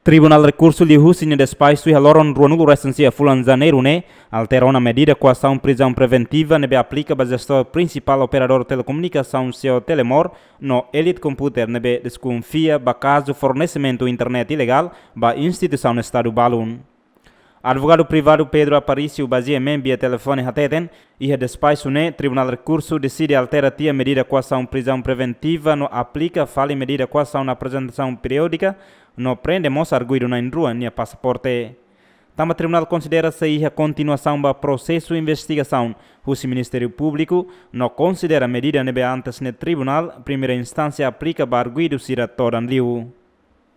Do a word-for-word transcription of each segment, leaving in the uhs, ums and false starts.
Tribunál Rekursu liuhusi nia despaxu iha loron ruanulu resin sia fulan Janeiru ne'e altera ona medida koasaun prizaun preventiva ne'ebé aplika ba jestór prinsipál operadór telekomunikasaun Ceo Telemor no Elite Computer ne'ebé deskonfia ba kazu fornesimentu internet ilegál ba instituisaun Estadu balun. Advogadu privadu Pedro Aparício ba G M N via telefone hateten, iha despaxu ne'e Tribunál Rekursu deside altera tiha medida koasaun prizaun preventiva no aplika fali medida koasaun aprezentasaun periódika no prende mós arguidu na'in-rua nia pasaporte. Tanba tribunál konsidera sei iha kontinuasaun ba prosesu investigasaun husi Ministériu Públiku no konsidera medida ne'ebé antes ne'e Tribunál Primeira Instánsia aplika ba arguidu sira todan liu.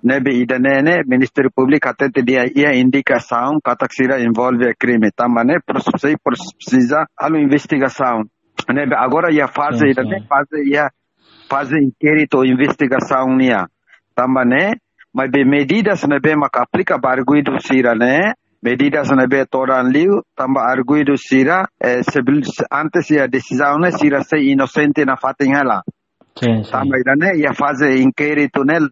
Ne'ebé ida-ne'e ne'e Ministériu Públiku hatete dehan iha indikasaun katak sira envolve krime. Tanba ne'e pros-, sei presiza halo investigasaun. Ne'ebé agora iha faze Sim, ida-ne'e sim. faze iha faze inkéritu investigasaun nian. Tanba ne'e, maibé medidas ne'ebé maka aplika ba arguidu sira ne'e, medidas ne'ebé todan liu, tanba arguidu sira, eh, sebil-, antes iha desizaun ne'e sira sei inosente nafatin hela. Sim, sim. Tanba ida-ne'e iha faze inkéritu ne'e,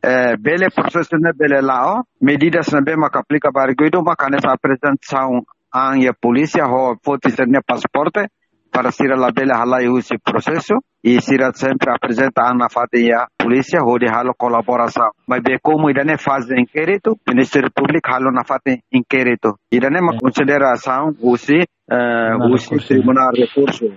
eh, bele prosesu ne'e bele la'o, medidas ne'ebé maka aplika ba arguidu, maka hanesan aprezentasaun an iha polísia, ho foti sira-nia pasaporte, para sira labele halai husi prosesu, i sira sempre aprezenta an nafatin iha polísia, hodi halo kolaborasaun. Maibé komu ida-ne'e faze inkéritu, Ministériu Públiku halo nafatin inkéritu. Ida-ne'e mak Sim. konsiderasaun husi, eh, Tribunál husi Rekursu. Tribunál Rekursu.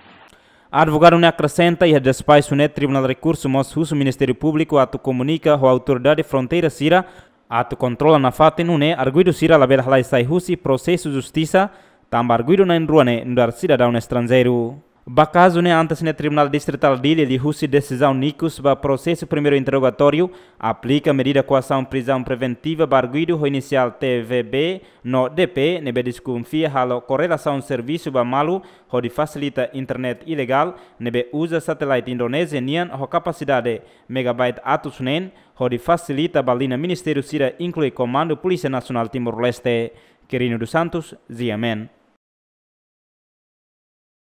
Advogadu ne'e akresenta iha despaxu ne'e Tribunál Rekursu mós husu Ministériu Públiku atu komunika ho autoridade fronteira sira atu kontrola nafatin nune'e arguidu sira labele halai sai husi prosesu justisa, tanba arguidu na'in-rua ne'e nu'udar sidadaun estranjeiru. Ba kazu ne'e antes ne'e Tribunál Distritál Dili liuhusi desizaun ikus ba prosesu primeiru interrogatóriu aplika medida koasaun prizaun preventiva ba arguidu ho inisiál T V B no D P ne'ebé deskonfia halo korelasaun servisu ba malu hodi fasilita internet ilegál ne'ebé uza satélite Indonézia nian ho kapasidade megabyte atus neen hodi fasilita ba liña ministériu sira inklui Komandu Polísia Nasionál Timor-Leste. Quirino dos Santos, G M N.